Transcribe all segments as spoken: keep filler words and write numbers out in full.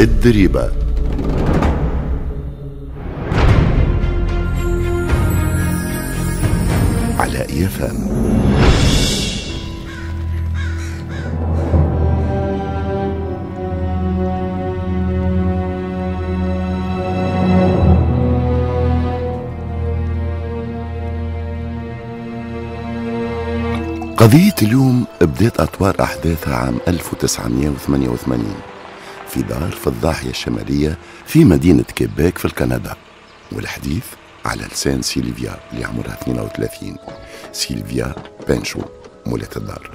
الدريبة. على إي إف إم. قضية اليوم بدأت أطوار أحداثها عام ألف وتسعمئة وثمانية وثمانين في دار في الضاحية الشمالية في مدينة كيبيك في الكندا، والحديث على لسان سيلفيا اللي عمرها اثنين وثلاثين، سيلفيا بانشو مولة الدار.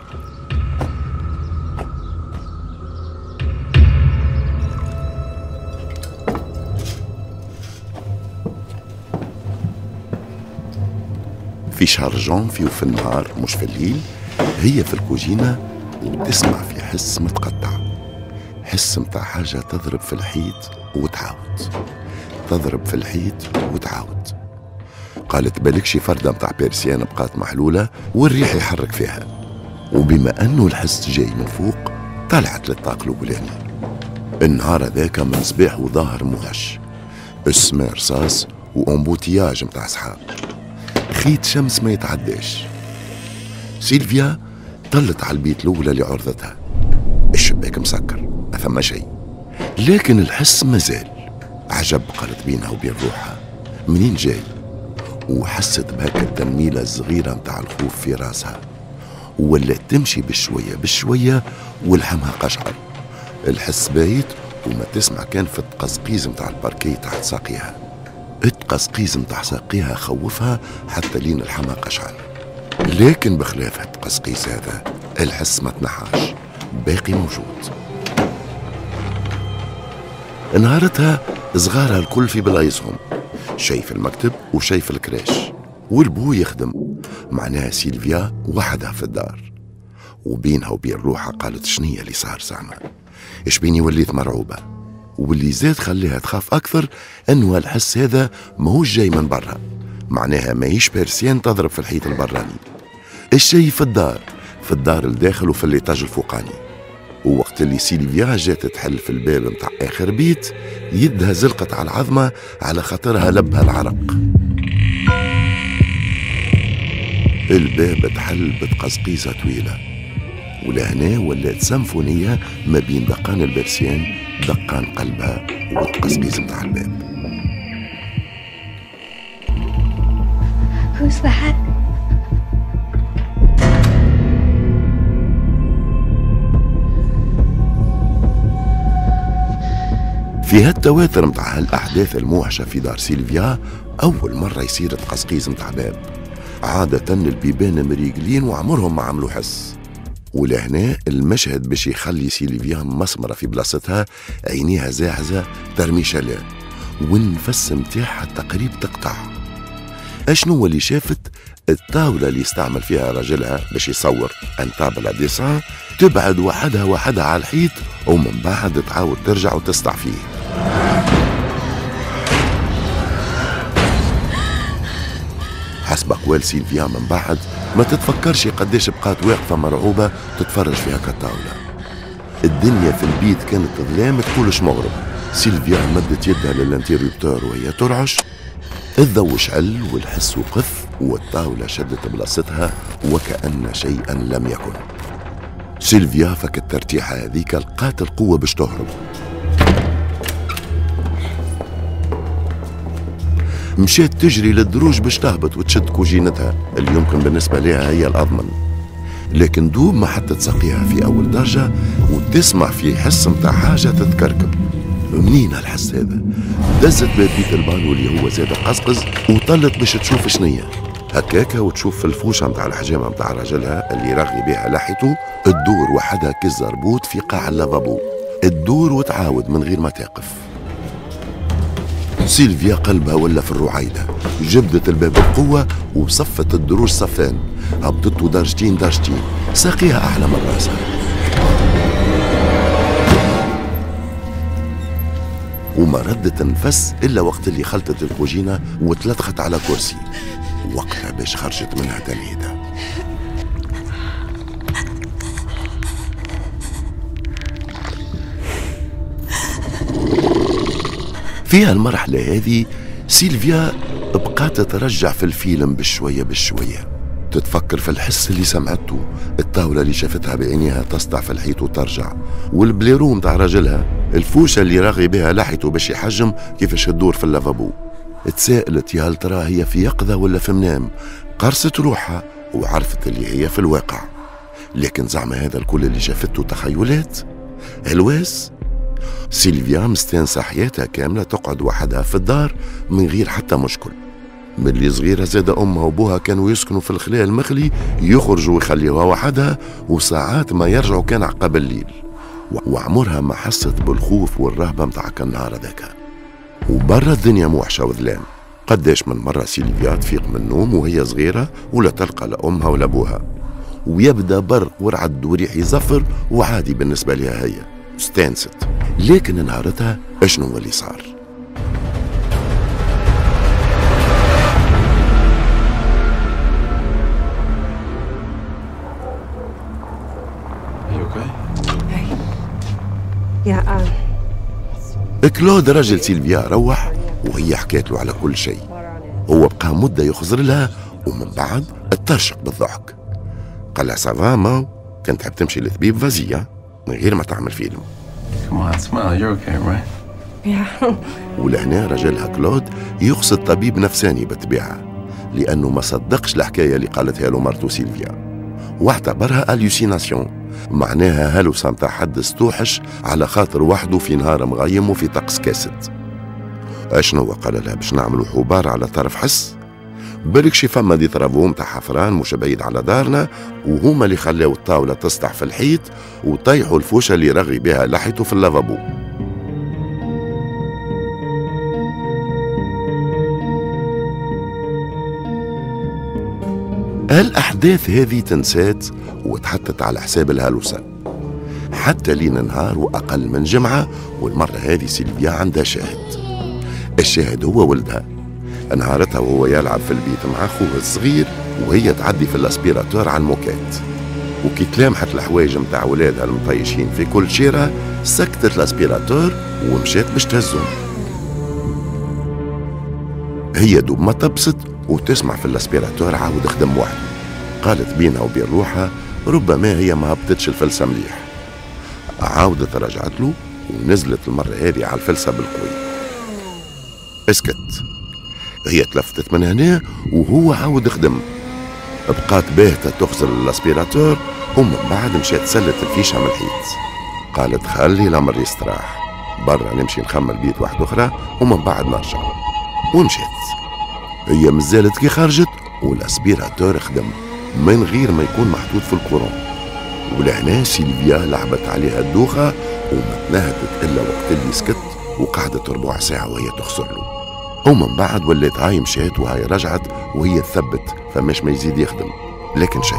في شهر جانفي وفي النهار مش في الليل، هي في الكوجينة وتسمع في حس متقطع، حس متاع حاجة تضرب في الحيط وتعاود، تضرب في الحيط وتعاود. قالت بالك شي فردة متاع persienne بقات محلولة والريح يحرك فيها. وبما أنه الحس جاي من فوق، طلعت للطاق الأولاني. النهار هذاك من صباح وظاهر موحش، السماء رصاص و embouteillage متاع سحاب، خيط شمس ما يتعداش. سيلفيا طلت على البيت الأولى اللي عرضتها، الشباك مسكر، ما ثم شيء، لكن الحس مازال. عجب، قالت بينها وبين روحها، منين جاي؟ وحست بهكا التنميلة الصغيرة متاع الخوف في راسها، وولات تمشي بشوية بشوية ولحمها قشعر. الحس بايت وما تسمع كان في التقزقيز متاع الباركي تحت ساقيها. التقزقيز متاع ساقيها خوفها حتى لين لحمها قشعر، لكن بخلاف التقزقيز هذا الحس ما تنحاش، باقي موجود. نهارتها صغارها الكل في بلايصهم، شي في المكتب وشي في ال crèche، والبو يخدم، معناها سيلفيا وحدها في الدار. وبينها وبين روحها قالت شنية اللي صار زعما؟ ايش بيني وليت مرعوبة؟ واللي زاد خليها تخاف أكثر أنه الحس هذا ماهوش جاي من برا، معناها ماهيش persienne تضرب في الحيط البراني، الشيء في الدار، في الدار الداخل وفي l'étage الفوقاني. ووقت اللي سيلفيا جات تحل في الباب متاع آخر بيت، يدها زلقت على العظمة على خاطرها لبها العرق. الباب تحل بتقزقيزة طويلة، ولهنا ولات سيمفونية ما بين دقان ال persienne، دقان قلبها، والتقزقيز متاع الباب. Who's that? في هالتواتر متاع هالأحداث الموحشة في دار سيلفيا، أول مرة يصير تقزقيز متاع باب. عادة البيبان مريقلين وعمرهم ما عملوا حس. ولهنا المشهد باش يخلي سيلفيا مسمرة في بلاصتها، عينيها زاعزة ترميشة لا، والنفس متاعها تقريب تقطع. اشنو اللي شافت؟ الطاولة اللي يستعمل فيها راجلها باش يصور، une table à dessin، تبعد وحدها وحدها على الحيط ومن بعد تعاود ترجع وتسطع فيه. حسب أقوال سيلفيا من بعد، ما تتفكرش قديش بقات واقفة مرعوبة تتفرج في هكا الطاولة. الدنيا في البيت كانت ظلام تقولش مغرب. سيلفيا مدت يدها لل interrupteur وهي ترعش، الضوء شعل والحس وقف والطاولة شدت بلاصتها وكأن شيئا لم يكن. سيلفيا فك الترتيحة هذيك لقات القوة باش تهرب. مشات تجري للدروج باش تهبط وتشد كوجينتها اللي يمكن بالنسبة لها هي الأضمن، لكن دوب ما حطت ساقيها في أول درجة وتسمع في حس متاع حاجة تتكركب. منين الحس هذا؟ دزت باب بيت البانو اللي هو زاد قزقز وطلت باش تشوف شنية. هكاكا وتشوف في الفوشة متاع الحجامة متاع راجلها اللي رغي بها لحيته تدور وحدها كالزربوت في قاع اللافابو، تدور وتعاود من غير ما تقف. سيلفيا قلبها ولا في الرعيدة، جبدت الباب بقوة وصفت الدروج صفان، هبطته درجتين درجتين، ساقيها أعلى من راسها. وما ردت النفس إلا وقت اللي خلطت الكوجينة وتلطخت على كرسي، وقتها باش خرجت منها تنهيدة. فيها المرحلة هذه سيلفيا بقات ترجع في الفيلم بالشوية بالشوية، تتفكر في الحس اللي سمعته، الطاولة اللي شافتها بعينيها تسطع في الحيط وترجع، وال blaireau متاع راجلها، الفوشة اللي راغي بها لحيته باش يحجم كيفاش تدور في اللافابو. تساءلت يا هل ترى هي في يقظة ولا في منام؟ قرصت روحها وعرفت اللي هي في الواقع، لكن زعما هذا الكل اللي شافته تخيلات؟ هلواس؟ سيلفيا مستانسة حياتها كاملة تقعد وحدها في الدار من غير حتى مشكل. من اللي صغيرة زاد أمها وأبوها كانوا يسكنوا في الخلاء المخلي، يخرجوا ويخليوها وحدها، وساعات ما يرجعوا كان عقب الليل، وعمرها ما حست بالخوف والرهبة متاع النهار هذاك. وبرا الدنيا موحشة وظلام. قداش من مرة سيلفيا تفيق من النوم وهي صغيرة ولا تلقى لا أمها ولا أبوها، ويبدأ برق ورعد وريح يزفر، وعادي بالنسبة لها هي استانست. لكن نهارتها اشنو اللي صار؟ كلود رجل سيلفيا روح وهي حكات له على كل شيء. هو بقى مدة يخزر لها ومن بعد اترشق بالضحك، قال لها ça va ما كنت تحب تمشي للطبيب vas-y من غير ما تعمل فيلم. ولهنا رجلها كلود يقصد طبيب نفساني بالطبيعة، لأنه ما صدقش الحكاية اللي قالتها له مرته سيلفيا، واعتبرها hallucination، معناها هلوسة متاع حد استوحش على خاطر وحده في نهار مغيم وفي طقس كاسد. اشنو قال لها؟ باش نعملوا حبار على طرف حس، بالك شي فما des travaux متاع حفران مش بعيد على دارنا، وهما اللي خلاو الطاولة تسطح في الحيط وطيحوا الفوشة اللي رغي بها لحيته في اللافابو. الأحداث هذه تنسات وتحطت على حساب الهلوسة حتى لين نهار وأقل من جمعة، والمرة هذه سيلفيا عندها شاهد. الشاهد هو ولدها. نهارتها وهو يلعب في البيت مع أخوه الصغير وهي تعدي في ال aspirateur على الموكات، وكي تلامحت الحوايج متاع ولادها المطيشين في كل شيرة سكتت ال aspirateur ومشات باش تهزهم. هي دوب ما تبسط وتسمع في ال aspirateur عاود خدم وحده. قالت بينها وبين روحها ربما هي ما هبطتش الفلسة مليح. عاودت رجعت له ونزلت المرة هذه على الفلسة بالقوي. اسكت. هي تلفتت من هنا وهو عاود خدم. بقات باهتة تخزر ال aspirateur ومن بعد مشات سلت الفيشة من الحيط. قالت خلي الأمر يستراح، برا نمشي نخمل بيت واحدة أخرى ومن بعد نرجع. ومشات. هي مازالت كي خرجت وال aspirateur خدم من غير ما يكون محطوط في ال courant. ولهنا سيلفيا لعبت عليها الدوخة وما تنهدت إلا وقت اللي سكت، وقعدت ربع ساعة وهي تخسر له. ومن بعد ولات هاي مشات وهاي رجعت وهي تثبت فماش ما يزيد يخدم، لكن شيء.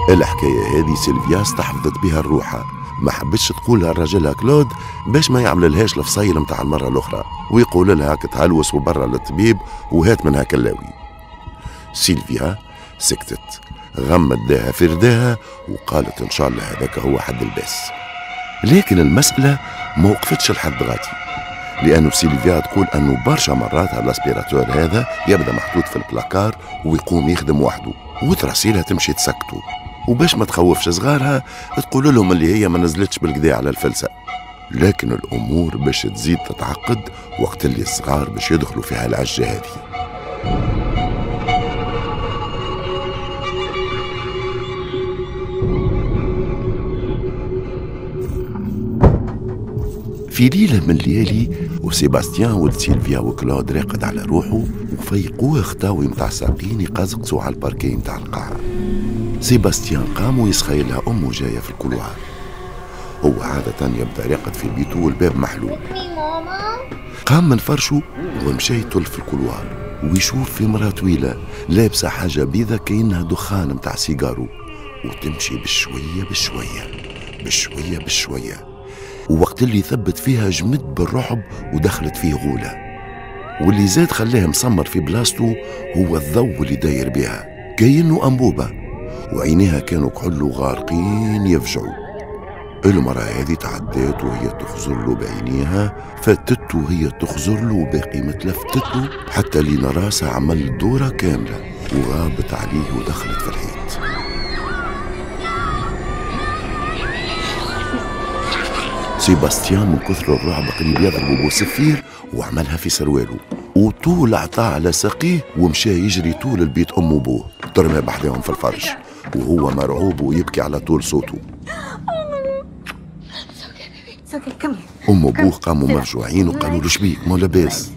الحكاية هذه سيلفيا استحفظت بها الروحة، ما حبتش تقولها لراجلها كلود باش ما يعمللهاش الفصيل متاع المرة الأخرى ويقول لها كتهلوس وبرا للطبيب وهات منها كلاوي. سيلفيا سكتت، غمت داها في رداها وقالت إن شاء الله هذاك هو حد الباس. لكن المسألة ما وقفتش لحد غادي، لأنه سيلفيا تقول أنه برشا مرات ال aspirateur هذا يبدأ محطوط في البلاكار ويقوم يخدم وحده وتراسيلها تمشي تسكته، وباش ما تخوفش صغارها تقول لهم اللي هي ما نزلتش بالكدا على الفلسة. لكن الأمور باش تزيد تتعقد وقت اللي الصغار باش يدخلوا فيها العجة هذه. في ليلة من الليالي وسيباستيان ولد سيلفيا وكلود راقد على روحه وفيقوه خطاوي متاع ساقين يقزقزوا على الباركي متاع القاعة. سيباستيان قام ويسخيلها أمه جاية في ال couloir. هو عادة يبدأ راقد في بيته والباب محلول. قام من فرشه ومشى يطل في ال couloir ويشوف في مرأة طويلة لابسة حاجة بيضة كأنها دخان متاع سيجارو، وتمشي بشوية بشوية بشوية بشوية، ووقت اللي ثبت فيها جمد بالرعب ودخلت فيه غولة. واللي زاد خلاه مسمر في بلاصته هو الضوء اللي داير بها كأنه أنبوبة، وعينيها كانوا كحل غارقين يفجعوا. المرأة هذه تعدات وهي تخزر له بعينيها، فاتته وهي تخزر له وباقي متلفتته حتى لين راسها عمل دورة كاملة وغابت عليه ودخلت في الحيط. سيباستيان من كثر الرعب قريب يضربه بوسفير وعملها في سرواله، وطول عطاه على ساقيه ومشى يجري طول البيت أم وبوه، ترمى بحذاهم في الفرش وهو مرعوب ويبكي على طول صوته. أم وبوه قاموا مرجوعين وقالوا له شبيك ما لاباس؟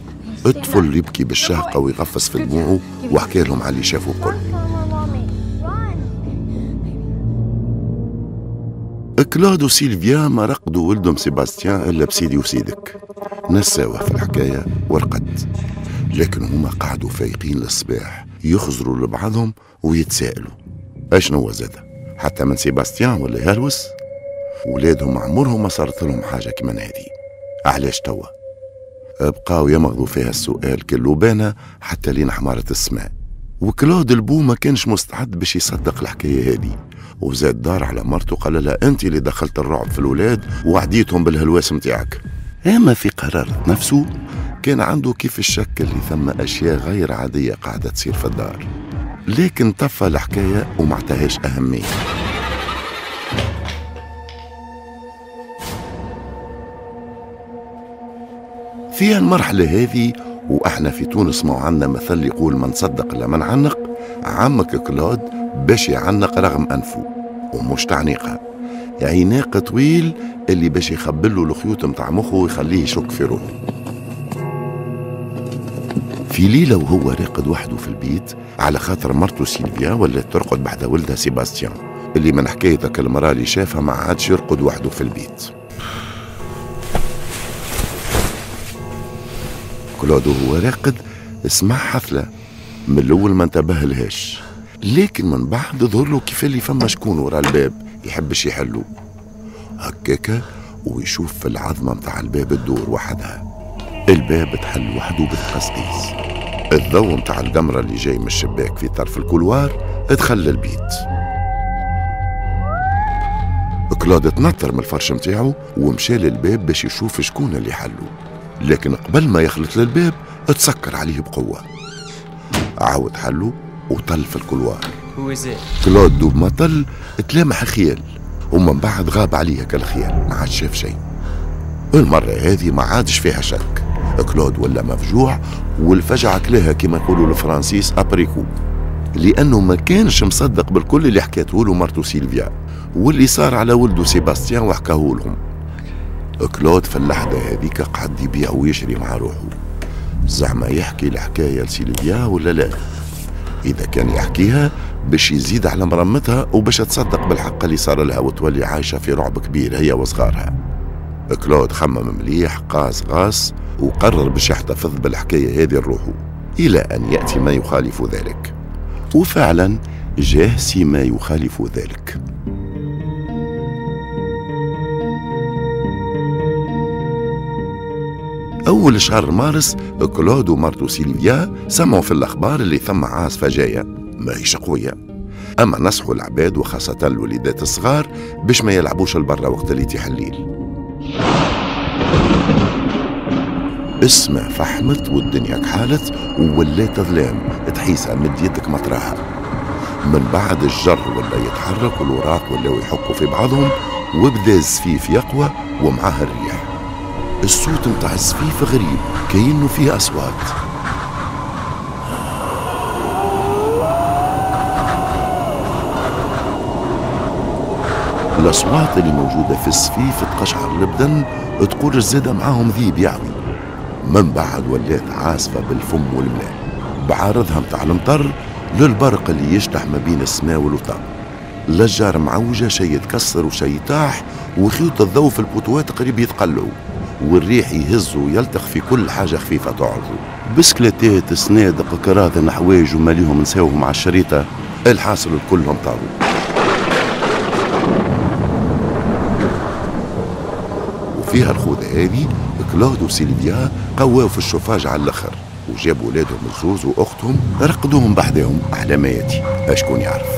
الطفل يبكي بالشهقة ويغفص في دموعه وحكى لهم على اللي شافه الكل. كلود وسيلفيا ما رقدوا ولدهم سيباستيان إلا بسيدي وسيدك، نساوه في الحكاية ورقد، لكن هما قعدوا فايقين للصباح يخزروا لبعضهم ويتساءلوا اشنو زاد حتى من سيباستيان ولا يهلوس؟ ولادهم عمرهم ما صارت لهم حاجة كيما هذه، علاش توا؟ بقاو يمغضوا فيها السؤال كله بانا حتى لين حمارت السماء. وكلود البو ما كانش مستعد باش يصدق الحكاية هذه، وزاد دار على مرته قال لها انت اللي دخلت الرعب في الولاد وعديتهم بالهلواس متاعك. اما في قرارة نفسه كان عنده كيف الشك اللي ثم اشياء غير عادية قاعدة تصير في الدار، لكن طفى الحكاية وما عطاهاش أهمية. في المرحلة هذه وإحنا في تونس ما عندنا مثل يقول من صدق لا من عنق، عمك كلود باش يعنق رغم أنفه ومش تعنيقة، عناق طويل اللي باش يخبله الخيوط متاع مخه ويخليه يشك في روحه. في ليلة وهو راقد وحده في البيت على خاطر مرته سيلفيا ولا ترقد بعد ولدها سيباستيان اللي من حكايتك المرأة اللي شافها ما عادش يرقد وحده في البيت. كلود وهو راقد سمع حفلة، من الأول ما انتبه لهاش، لكن من بعد ظهر له كيف اللي فما شكون ورا الباب يحبش يحلو هكاكا، ويشوف في العظمة متاع الباب تدور وحدها. الباب تحل وحده بالتقصقيص، الضوء متاع القمرة اللي جاي من الشباك في طرف ال couloir دخل للبيت. كلود تنطر من الفرش متاعه ومشى للباب باش يشوف شكون اللي حلو، لكن قبل ما يخلط للباب تسكر عليه بقوة. عاود حلو وطل في ال couloir. كلود دوب ما طل تلامح خيال، ومن بعد غاب عليه كالخيال ما عادش شاف شيء. المرة هذه ما عادش فيها شك، كلود ولا مفجوع والفجعة كلاها كما يقولوا الفرنسيس après coup، لأنه ما كانش مصدق بالكل اللي حكاته له مرته سيلفيا واللي صار على ولده سيباستيان وحكاه لهم. كلود في اللحظة هذيك قعد يبيع ويشري مع روحه، زعما يحكي الحكاية لسيلفيا ولا لا؟ إذا كان يحكيها باش يزيد على مرمتها وباش تصدق بالحق اللي صار لها وتولي عايشة في رعب كبير هي وصغارها. كلود خمم مليح، قاس غاس، وقرر باش يحتفظ بالحكاية هذه لروحه إلى أن يأتي ما يخالف ذلك. وفعلا جاه سي ما يخالف ذلك. أول شهر مارس كلود ومرته سيلفيا سمعوا في الأخبار اللي ثم عاصفة جاية ماهيش قوية، أما نصحوا العباد وخاصة الوليدات الصغار باش ما يلعبوش البرة وقت اللي يتيح الليل. السما فحمت والدنيا كحالت وولات ظلام تحيسها مد يدك مطرحها. من بعد الجر ولا يتحرك والوراق ولاو يحكوا في بعضهم وبدا الزفيف يقوى ومعاه الريح. الصوت متاع الزفيف غريب كأنه فيه أصوات. الأصوات اللي موجودة في الزفيف تقشعر البدن، تقول الزادة معاهم ذيب يعوي. من بعد ولات عاصفة بالفم والملاء بعارضها متاع المطر للبرق اللي يشطح ما بين السماء والوطا. الأشجار معوجة، شي يتكسر وشي يطاح، وخيوط الضوء في البوتوات قريب يتقلعوا، والريح يهز ويلتخ في كل حاجة خفيفة تعرضه. بسكليتات، صنادق، كراذن، حوايج وماليهم نساوهم على الشريطة. الحاصل كلهم طاروا. وفيها الخوذة هذه كلود وسيلفيا قواو في الشوفاج على الاخر وجابوا ولادهم الزوز واختهم رقدوهم بحذاهم على ما ياتي اشكون يعرف.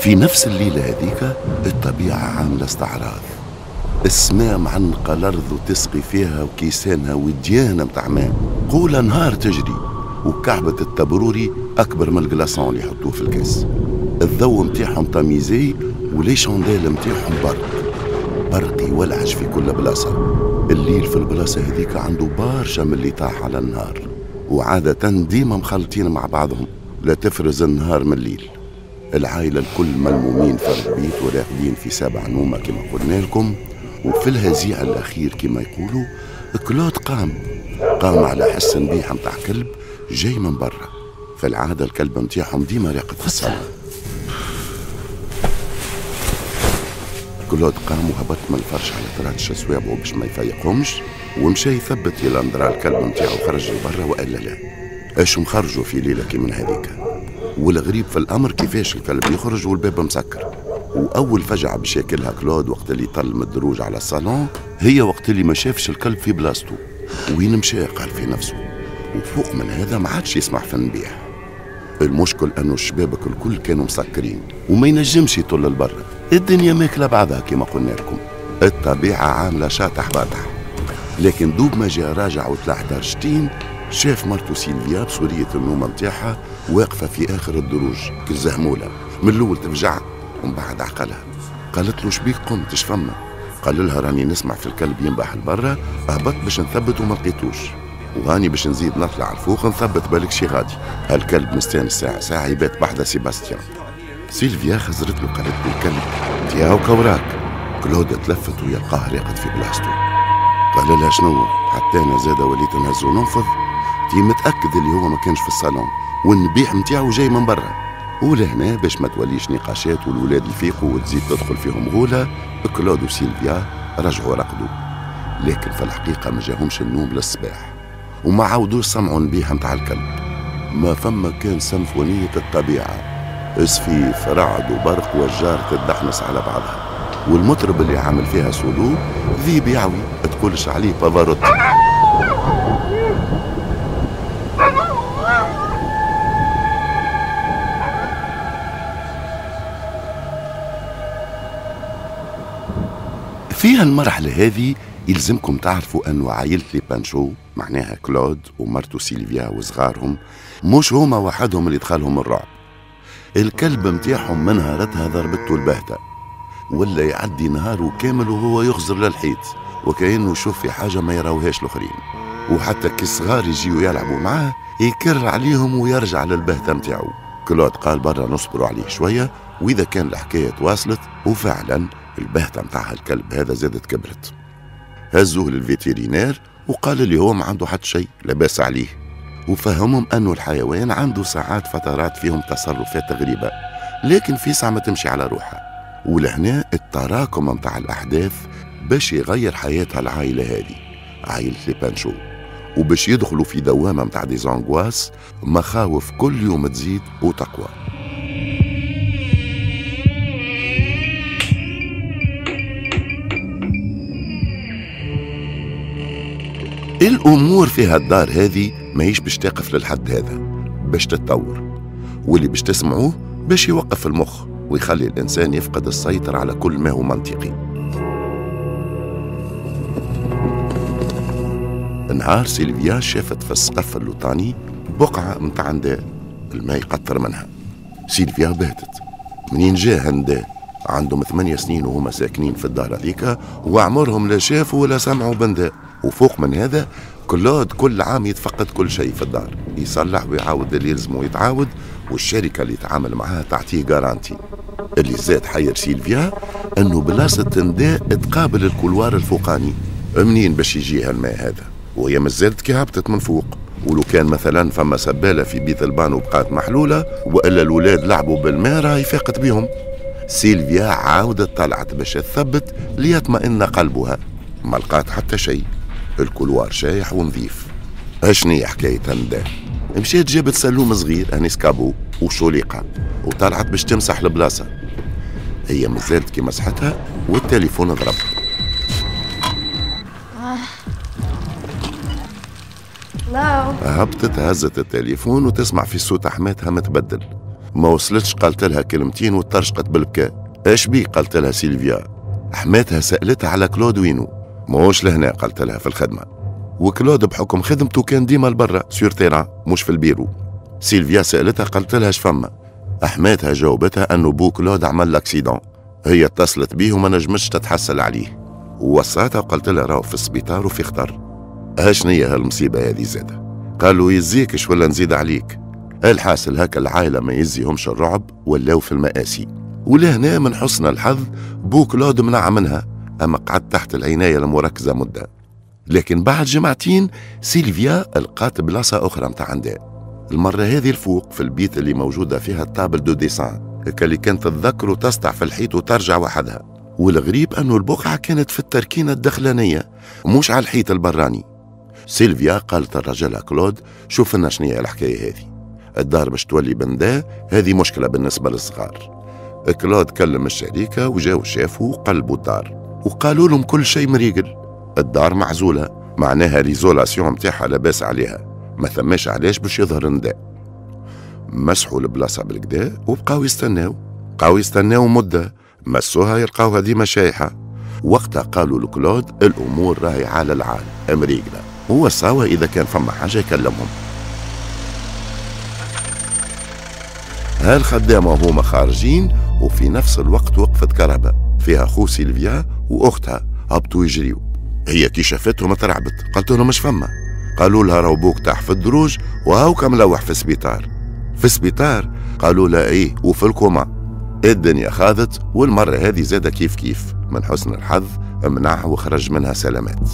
في نفس الليلة هذيك الطبيعة عاملة استعراض، السماء معنقة الأرض وتسقي فيها وكيسانها وديانة متاع ماء، قولة نهار تجري، وكعبة التبروري أكبر من ال glaçon اللي يحطوه في الكاس. الضوء متاعهم tamisé و les chandelles متاعهم برق برق يولعش في كل بلاصة. الليل في البلاصة هذيك عنده برشا من اللي طاح على النهار، وعادة ديما مخلطين مع بعضهم، لا تفرز النهار من الليل. العائلة الكل ملمومين في البيت وراقدين في سبع نومة كما قلنا لكم. وفي الهزيع الأخير كما يقولوا كلود قام قام على حس نبيحة متاع كلب جاي من برا. في العادة الكلب متاعهم ديما راقد في الصالة. كلود قام وهبط من الفرش على تراتش صوابعه باش ما يفيقهمش، ومشى يثبت الى ندرا الكلب نتاعو خرج لبرا والا لا. اش مخرجوا في ليلة كي من هذيك؟ والغريب في الامر كيفاش الكلب يخرج والباب مسكر. واول فجعه باش ياكلها كلود وقت اللي طل من الدروج على الصالون هي وقت اللي ما شافش الكلب في بلاصتو. وين مشى قال في نفسه. وفوق من هذا ما عادش يسمع في النبيح. المشكل انه الشبابك الكل كانوا مسكرين وما ينجمش يطل لبرا، الدنيا ماكله بعضها كما قلنا لكم، الطبيعة عامله شاطح باطح. لكن دوب ما جاء راجع وطلع درجتين شاف مرته سيلفيا بسورية النوم نتاعها واقفة في اخر الدروج كالزهموله. من الاول تفجع ومن بعد عقلها. قالت له شبيك قمت اش فما؟ قال لها راني نسمع في الكلب ينبح لبرا، هبط باش نثبت وما لقيتوش، وهاني باش نزيد نطلع الفوق نثبت بالك شي غادي. هالكلب مستانس ساعة ساعة يبات بحذا سيباستيان. سيلفيا خزرت له قالت له الكلب تياو كوراك. كلود تلفت ويلقاه راقد في بلاصتو. قال لها شنو؟ حتى انا زاده وليت نهز وننفض. تي متاكد اللي هو ما كانش في الصالون والنبيح نتاعو جاي من برا. ولهنا باش ما توليش نقاشات والولاد يفيقوا وتزيد تدخل فيهم غوله، كلود وسيلفيا رجعوا رقدوا. لكن في الحقيقة ما جاهمش النوم للصباح وما عاودوش سمعوا نبيح نتاع الكلب. ما فما كان سمفونية الطبيعة، سفيف رعد وبرق والجار تدحنس على بعضها، والمطرب اللي عامل فيها سولو ذيب يعوي تقولش عليه بافاروتي. في هالمرحلة هذه يلزمكم تعرفوا أنه عائلة les Panchaud، معناها كلود ومرته سيلفيا وصغارهم، مش هما وحدهم اللي دخلهم الرعب. الكلب متاعهم من نهارتها ضربته البهتة، ولا يعدي نهاره كامل وهو يخزر للحيط وكأنه يشوف في حاجة ما يراوهاش الآخرين. وحتى كي الصغار يجيو يلعبوا معاه يكر عليهم ويرجع للبهتة متاعو. كلود قال برا نصبروا عليه شوية وإذا كان الحكاية تواصلت، وفعلا البهتة متاع الكلب هذا زادت كبرت. هزوه لل vétérinaire وقال اللي هو ما عنده حتى شيء لاباس عليه، وفهمهم أنه الحيوان عنده ساعات فترات فيهم تصرفات غريبة لكن في ساعة ما تمشي على روحها. ولهنا التراكم متاع الأحداث باش يغير حياتها العائلة هذه، عائلة les Panchaud، وباش يدخلوا في دوامة متاع des angoisses، مخاوف كل يوم تزيد وتقوى. الأمور في هالدار هذه ماهيش باش تقف للحد هذا، باش تتطور، واللي باش تسمعوه باش يوقف المخ ويخلي الإنسان يفقد السيطرة على كل ما هو منطقي. نهار سيلفيا شافت في السقف اللوطاني بقعة متاع نداء الماء يقطر منها. سيلفيا بهتت، منين جا هالنداء؟ عندهم ثمانية سنين وهما ساكنين في الدار هذيك وعمرهم لا شافوا ولا سمعوا بنداء. وفوق من هذا كلود كل عام يتفقد كل شيء في الدار، يصلح ويعاود اللي يلزمه يتعاود، والشركة اللي يتعامل معاها تعطيه garantie. اللي زاد حير سيلفيا انه بلاصة نداء تقابل ال couloir الفوقاني، منين باش يجيها الماء هذا؟ وهي مازالت كي هبطت من فوق. ولو كان مثلا فما سبالة في بيت البان وبقات محلولة والا الولاد لعبوا بالماء راهي فاقت بهم. سيلفيا عاودت طلعت باش تثبت ليطمئن قلبها، ما لقات حتى شيء، ال couloir شايح ونظيف. اشني حكاية النداء؟ مشيت جابت سلوم صغير un escabeau وشوليقة وطلعت باش تمسح البلاصة. هي مازالت كي مسحتها والتليفون ضرب. هبطت هزت التليفون وتسمع في صوت حماتها متبدل. ما وصلتش قالت لها كلمتين وترشقت بالبكاء. اش بي؟ قالت لها سيلفيا. حماتها سألتها على كلود وينو، ماهوش لهنا قالت لها في الخدمة، وكلود بحكم خدمته كان ديما لبرا sur terrain مش في البيرو. سيلفيا سألتها قالت لها اش فما؟ حماتها جاوبتها انه بو كلود عمل l'accident، هي اتصلت بيه وما نجمتش تتحصل عليه، ووصاتها وقالت لها راهو في السبيطار وفي خطر. هاشنية هالمصيبة هذه زادة؟ قالوا يزيكش ولا نزيد عليك؟ الحاصل هكا العائلة ما يزيهمش الرعب ولاو في المآسي. ولهنا من حسن الحظ بو كلود منع منها، أما قعد تحت العناية المركزة مدة. لكن بعد جمعتين سيلفيا لقات بلاصة أخرى متاع عندها، المرة هذه الفوق في البيت اللي موجودة فيها ال table de dessin اللي كانت تتذكر وتسطع في الحيط وترجع وحدها. والغريب أنه البقعة كانت في التركينة الدخلانية مش على الحيط البراني. سيلفيا قالت لرجلها كلود شوف لنا شنية الحكاية هذه، الدار باش تولي بندا، هذه مشكلة بالنسبة للصغار. كلود كلم الشركة وجاو شافوا وقلبوا الدار وقالوا لهم كل شيء مريقل، الدار معزولة معناها l'isolation متاعها لاباس عليها، ما ثماش علاش باش يظهر نداء. مسحوا البلاصة بالكدا وبقاو يستناو، بقاو يستناو مدة، مسوها يلقاوها ديما شايحة. وقتها قالوا لكلود الأمور راهي على العال مريقلة، هو صاوى إذا كان فما حاجة يكلمهم. هالخدامة وهما خارجين وفي نفس الوقت وقفت كرهبة فيها خو سيلفيا وأختها، هبطوا يجريوا. هي كي شافتهم ترعبت، قالت لهم مش فما؟ قالوا لها راهو بوك طاح في الدروج وهاوكا ملوح في السبيطار. في السبيطار؟ قالوا لها ايه وفي الكوما. الدنيا خاضت، والمرة هذه زادة كيف كيف من حسن الحظ منع وخرج منها سلامات.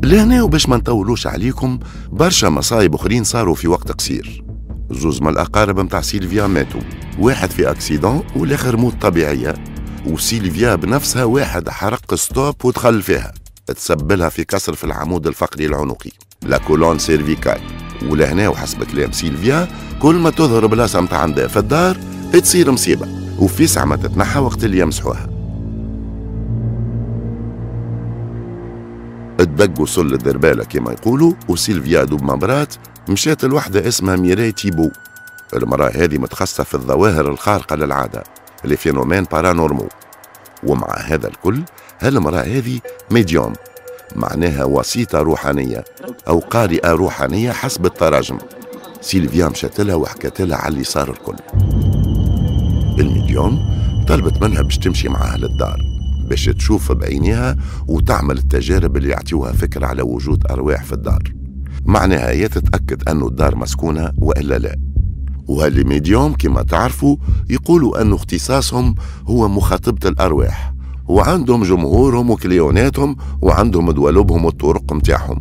لهنا وباش ما نطولوش عليكم، برشا مصايب اخرين صاروا في وقت قصير. زوز من الاقارب متاع سيلفيا ماتوا، واحد في accident والاخر موت طبيعية، وسيلفيا بنفسها واحد حرق stop ودخل فيها، تسبلها في كسر في العمود الفقري العنقي la colonne cervicale. ولهنا وحسب كلام سيلفيا كل ما تظهر بلاصة متاع عندها في الدار تصير مصيبة، وفي ساعة ما تتنحى وقت اللي يمسحوها. الدق وصل للدربالة كما يقولوا، وسيلفيا دوب ما برات مشات لوحدة اسمها ميراي تيبو. المرأة هذه متخصصة في الظواهر الخارقة للعادة les phénomènes paranormaux، ومع هذا الكل هالمرأة هذه médium، معناها وسيطة روحانية أو قارئة روحانية حسب التراجم. سيلفيا مشات لها وحكت لها على اللي صار الكل. ال médium طلبت منها باش تمشي معاها للدار باش تشوف بعينيها وتعمل التجارب اللي يعطيوها فكرة على وجود أرواح في الدار، معناها هي تتأكد أنه الدار مسكونة وإلا لا. وهال les médiums كما تعرفوا يقولوا أنه اختصاصهم هو مخاطبة الأرواح، وعندهم جمهورهم وكليوناتهم وعندهم دوالبهم والطرق متاعهم،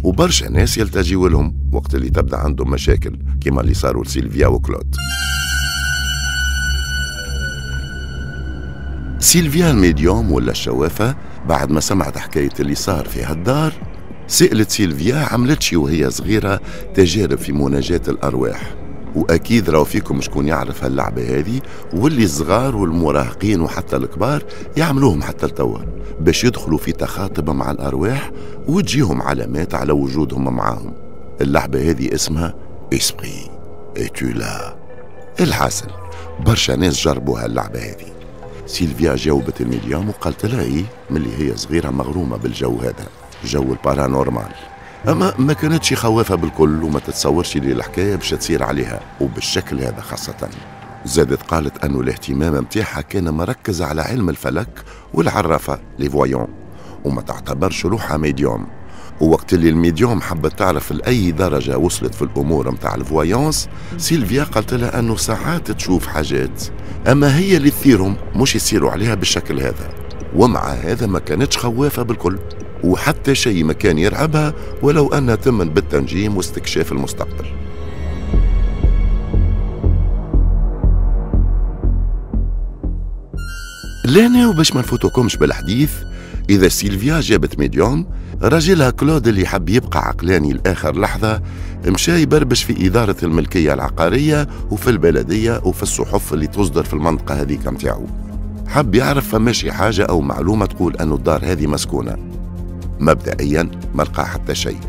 وبرشا ناس يلتجيوا لهم وقت اللي تبدا عندهم مشاكل كما اللي صاروا لسيلفيا وكلود. سيلفيا ال médium ولا الشوافة بعد ما سمعت حكاية اللي صار في هالدار سألت سيلفيا عملتشي وهي صغيرة تجارب في مناجاة الأرواح، وأكيد راهو فيكم شكون يعرف هاللعبة هذه، واللي الصغار والمراهقين وحتى الكبار يعملوهم حتى لتوا باش يدخلوا في تخاطب مع الأرواح وتجيهم علامات على وجودهم معاهم. اللعبة هذه اسمها Esprit es-tu là. الحاصل برشا ناس جربوا هاللعبة هذه. سيلفيا جاوبت ال médium وقالت لها ايه ملي هي صغيرة مغرومة بالجو هذا، جو ال paranormal، اما ما كانتش خوافة بالكل وما تتصورش اللي الحكاية باش تصير عليها وبالشكل هذا خاصة. زادت قالت انه الاهتمام متاعها كان مركز على علم الفلك والعرافة les voyants، وما تعتبرش روحها médium. ووقت اللي ال médium حبت تعرف لأي درجة وصلت في الأمور متاع ال voyance، سيلفيا قالت لها أنه ساعات تشوف حاجات أما هي اللي تثيرهم مش يصيروا عليها بالشكل هذا، ومع هذا ما كانتش خوافة بالكل وحتى شيء ما كان يرعبها ولو أنها تمن بالتنجيم واستكشاف المستقبل. لهنا وباش ما نفوتكمش بالحديث، إذا سيلفيا جابت médium، راجلها كلود اللي حب يبقى عقلاني لآخر لحظة مشى يبربش في إدارة الملكية العقارية وفي البلدية وفي الصحف اللي تصدر في المنطقة هذيك متاعو. حب يعرف فماشي حاجة أو معلومة تقول أنه الدار هذه مسكونة. مبدئيا ما لقى حتى شيء.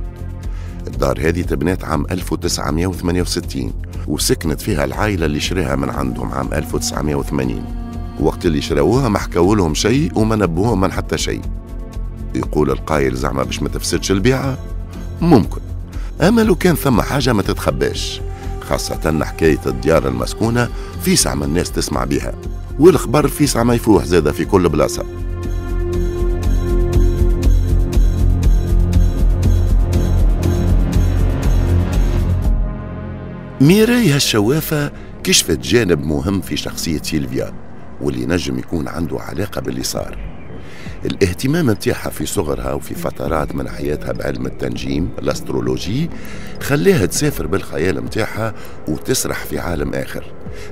الدار هذه تبنات عام ألف وتسعمائة وثمانية وستين وسكنت فيها العائلة اللي شراها من عندهم عام ألف وتسعمائة وثمانين. وقت اللي شراوها ما حكوا لهم شيء وما نبهوهم من حتى شيء. يقول القايل زعما باش ما تفسدش البيعة؟ ممكن، أما لو كان ثم حاجة ما تتخباش، خاصة حكاية الديار المسكونة في ساعة ما الناس تسمع بها، والخبر في ساعة ما يفوح زادة في كل بلاصة. ميراي هالشوافة كشفت جانب مهم في شخصية سيلفيا واللي نجم يكون عنده علاقة باللي صار. الاهتمام متاعها في صغرها وفي فترات من حياتها بعلم التنجيم l'astrologie خليها تسافر بالخيال متاعها وتسرح في عالم آخر،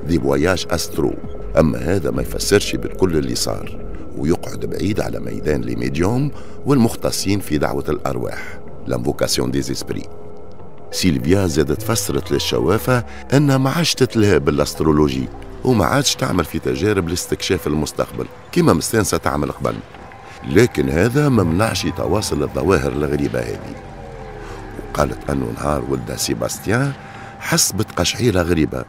des voyages astraux. أما هذا ما يفسرش بالكل اللي صار ويقعد بعيد على ميدان les médiums والمختصين في دعوة الأرواح، l'invocation des esprits. سيلفيا زادت فسرت للشوافة أنها ما عادش تتلهى بال astrologie وما عادش تعمل في تجارب لاستكشاف المستقبل كما مستانسة تعمل قبل، لكن هذا ما منعش تواصل الظواهر الغريبة هذه. وقالت أنه نهار ولدها سيباستيان حس بتقشعيرة غريبة،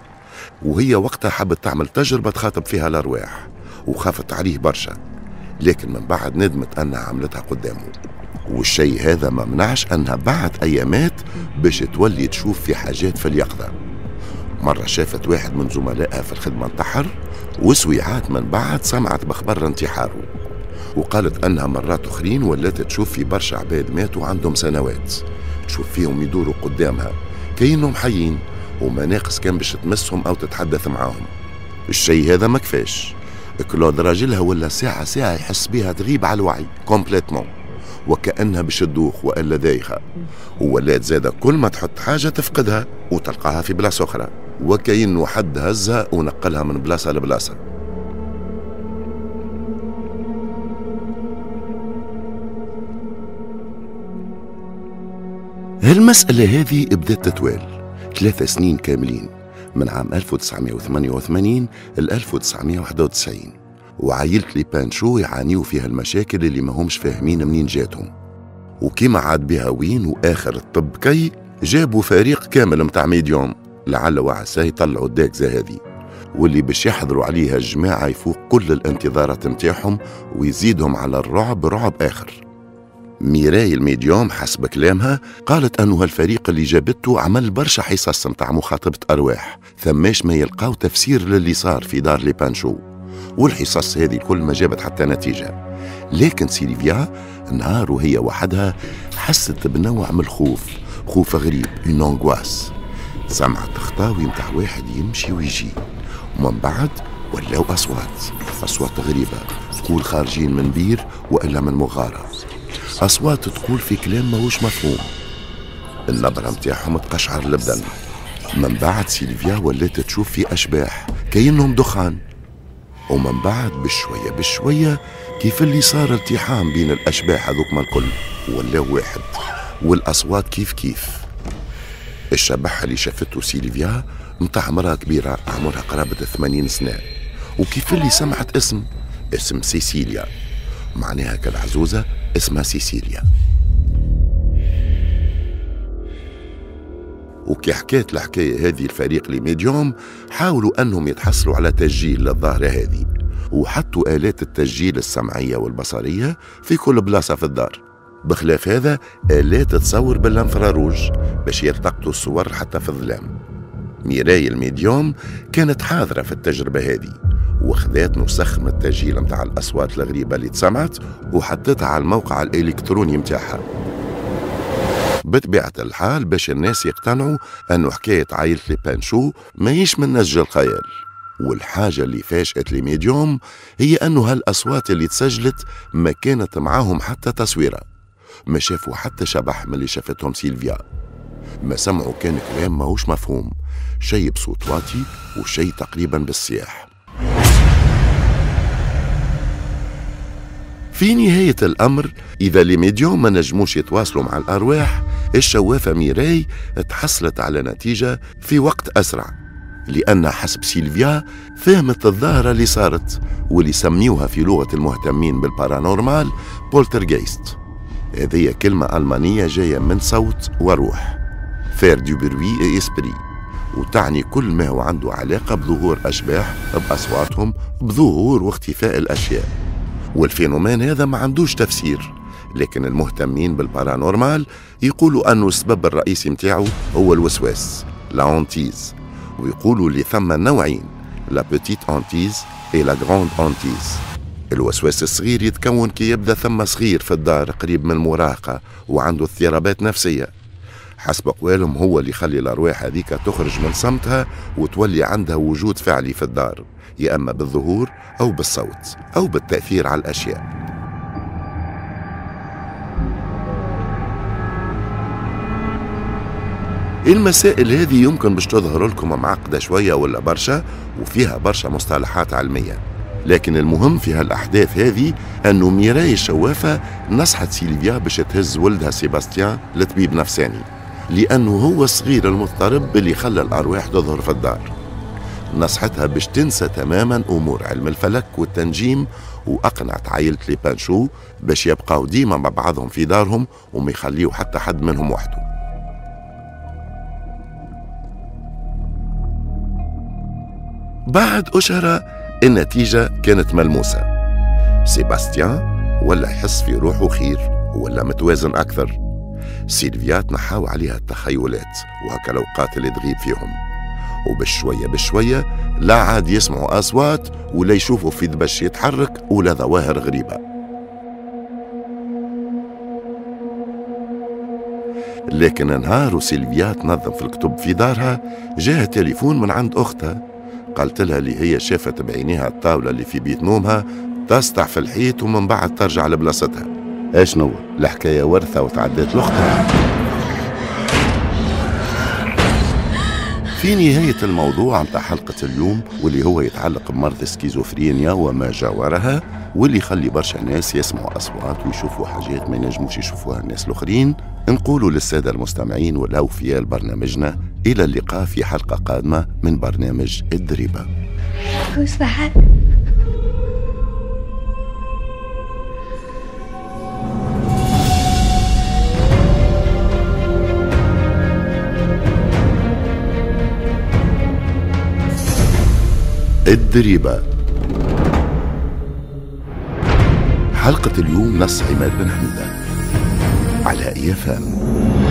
وهي وقتها حبت تعمل تجربة تخاطب فيها الأرواح وخافت عليه برشا، لكن من بعد ندمت أنها عملتها قدامه. والشيء هذا ما منعش أنها بعد أيامات باش تولي تشوف في حاجات في اليقظة. مرة شافت واحد من زملائها في الخدمة انتحر، وسويعات من بعد سمعت بخبر انتحاره. وقالت أنها مرات أخرين ولات تشوف في برشا عباد ماتوا عندهم سنوات، تشوف فيهم يدوروا قدامها كأنهم حيين وما ناقص كان باش تمسهم أو تتحدث معاهم. الشيء هذا ما كفاش، كلود راجلها ولا ساعة ساعة يحس بها تغيب على الوعي complètement، وكأنها باش تدوخ وإلا دايخة، وولات زادة كل ما تحط حاجة تفقدها وتلقاها في بلاصة أخرى، وكأنه حد هزها ونقلها من بلاصة لبلاصة. هالمسألة هذه بدأت تتوال ثلاثة سنين كاملين من عام ألف وتسعمائة وثمانية وثمانين ل ألف وتسعمائة وواحد وتسعين، وعائلة لي بانشو يعانيوا فيها المشاكل اللي ما همش فاهمين منين جاتهم. وكما عاد بها وين وآخر الطب كي جابوا فريق كامل متاع médiums لعل وعسى يطلعوا الداكزة هذه، واللي باش يحضروا عليها الجماعة يفوق كل الانتظارات متاعهم ويزيدهم على الرعب رعب آخر. ميراي ال médium حسب كلامها قالت أنه هالفريق اللي جابته عمل برشا حصص متاع مخاطبة أرواح ثماش ما يلقاو تفسير للي صار في دار لي بانشو، والحصص هذه الكل ما جابت حتى نتيجة. لكن سيلفيا نهار وهي وحدها حست بنوع من الخوف، خوف غريب، une angoisse. سمعت خطاوي متاع واحد يمشي ويجي، ومن بعد ولاو أصوات، أصوات غريبة تقول خارجين من بير وإلا من مغارة، أصوات تقول في كلام ماهوش مفهوم، النبرة متاعهم تقشعر البدن. من بعد سيلفيا ولات تشوف في أشباح كأنهم دخان، ومن بعد بشوية بشوية كيف اللي صار التحام بين الأشباح هذوك ما الكل ولاو واحد، والأصوات كيف كيف. الشبح اللي شافته سيلفيا متاع مرأة كبيرة عمرها قرابة ثمانين سنة، وكيف اللي سمعت اسم اسم سيسيليا، معناها كالعزوزة اسمها سيسيليا. وكي حكيت الحكاية هذه الفريق les médiums حاولوا أنهم يتحصلوا على تسجيل للظاهرة هذه، وحطوا آلات التسجيل السمعية والبصرية في كل بلاصة في الدار. بخلاف هذا آلات تصور بال infrarouge باش يلتقطوا الصور حتى في الظلام. ميراي ال médium كانت حاضرة في التجربة هذه، وخذات نسخ من التسجيل متاع الأصوات الغريبة اللي تسمعت وحطتها على الموقع الإلكتروني متاعها. بطبيعة الحال باش الناس يقتنعوا أنه حكاية عائلة لي بانشو ماهيش من نسج الخيال. والحاجة اللي فاجأت les médiums هي أنه هالأصوات اللي تسجلت ما كانت معاهم حتى تصويرة، ما شافوا حتى شبح من اللي شافتهم سيلفيا، ما سمعوا كان كلام ماهوش مفهوم، شيء بصوت واطي وشيء تقريبا بالصياح. في نهاية الأمر إذا les médiums ما نجموش يتواصلوا مع الأرواح، الشوافة ميراي تحصلت على نتيجة في وقت أسرع، لأن حسب سيلفيا فهمت الظاهرة اللي صارت واللي سميوها في لغة المهتمين بال paranormal poltergeist. هذه كلمة ألمانية جاية من صوت وروح، faire du bruit et esprits، وتعني كل ما هو عنده علاقة بظهور أشباح، بأصواتهم، بظهور واختفاء الأشياء. وال phénomène هذا ما عندوش تفسير، لكن المهتمين بال paranormal يقولوا أنه السبب الرئيسي متاعه هو الوسواس، la hantise، ويقولوا اللي ثم نوعين، la petite hantise et la grande hantise. الوسواس الصغير يتكون كي يبدا ثم صغير في الدار قريب من المراهقة وعنده اضطرابات نفسية. حسب أقوالهم هو اللي يخلي الأرواح هذيك تخرج من صمتها وتولي عندها وجود فعلي في الدار، يا أما بالظهور أو بالصوت أو بالتأثير على الأشياء. المسائل هذه يمكن باش تظهر لكم معقدة شوية ولا برشا وفيها برشا مصطلحات علمية، لكن المهم في هالأحداث هذه أنه ميراي الشوافة نصحت سيلفيا باش تهز ولدها سيباستيان لطبيب نفساني، لأنه هو الصغير المضطرب اللي خلى الأرواح تظهر في الدار. نصحتها باش تنسى تماما أمور علم الفلك والتنجيم، وأقنعت عائلة les Panchaud باش يبقاو ديما مع بعضهم في دارهم وما يخليو حتى حد منهم وحده. بعد أشهر النتيجة كانت ملموسة، سيباستيان ولا يحس في روحه خير ولا متوازن أكثر. سيلفيا تنحاو عليها التخيلات وهكا الأوقات اللي تغيب فيهم، وبشوية بشوية لا عاد يسمعوا أصوات ولا يشوفوا في دبش يتحرك ولا ظواهر غريبة. لكن نهار وسيلفيا تنظم في الكتب في دارها جاها تليفون من عند أختها، قالت لها اللي هي شافت بعينيها الطاولة اللي في بيت نومها تسطع في الحيط ومن بعد ترجع لبلاصتها. اشنو الحكاية؟ ورثة وتعدت لأختها. في نهاية الموضوع متاع حلقة اليوم واللي هو يتعلق بمرض السكيزوفرينيا وما جاورها، واللي يخلي برشا ناس يسمعوا أصوات ويشوفوا حاجات ما ينجموش يشوفوها الناس الآخرين، نقولوا للسادة المستمعين والأوفياء لبرنامجنا إلى اللقاء في حلقة قادمة من برنامج الدريبة. Who's that? الدريبة. حلقة اليوم نص عماد بن حميدة على إي إف إم.